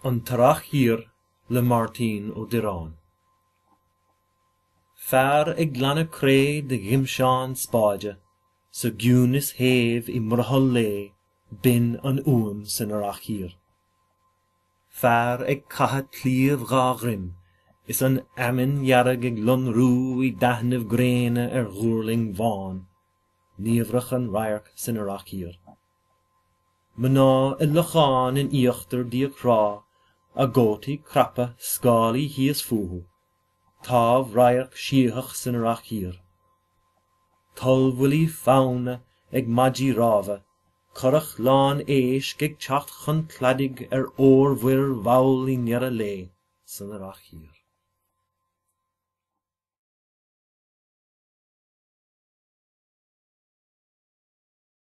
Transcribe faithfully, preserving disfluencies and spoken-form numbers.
An tEarrach Thiar le Máirtín Ó Direáin. Fear ag glanadh cré de ghimseán spáide, sa gciúnas shéimh i mbrothall lae, b'in an fhuaim san Earrach Thiar. Fear ag caitheamh claíomh dhá dhroim, is an fheamainn dhearg ag lonrú i dtaitneamh gréine ar ghuairling bhán, niamhrach an radharc san Earrach Thiar. Mná i lochán in íochtar díog thrá, a gcótaí craptha scálaí thíos fúthu, támhradharc síothach san Earrach Thiar. Tollbhuillí fanna ag maidí rámha, curach lán éisc ag teacht chun cladaigh ar fhormhuir mhall i ndeireadh lae san Earrach Thiar.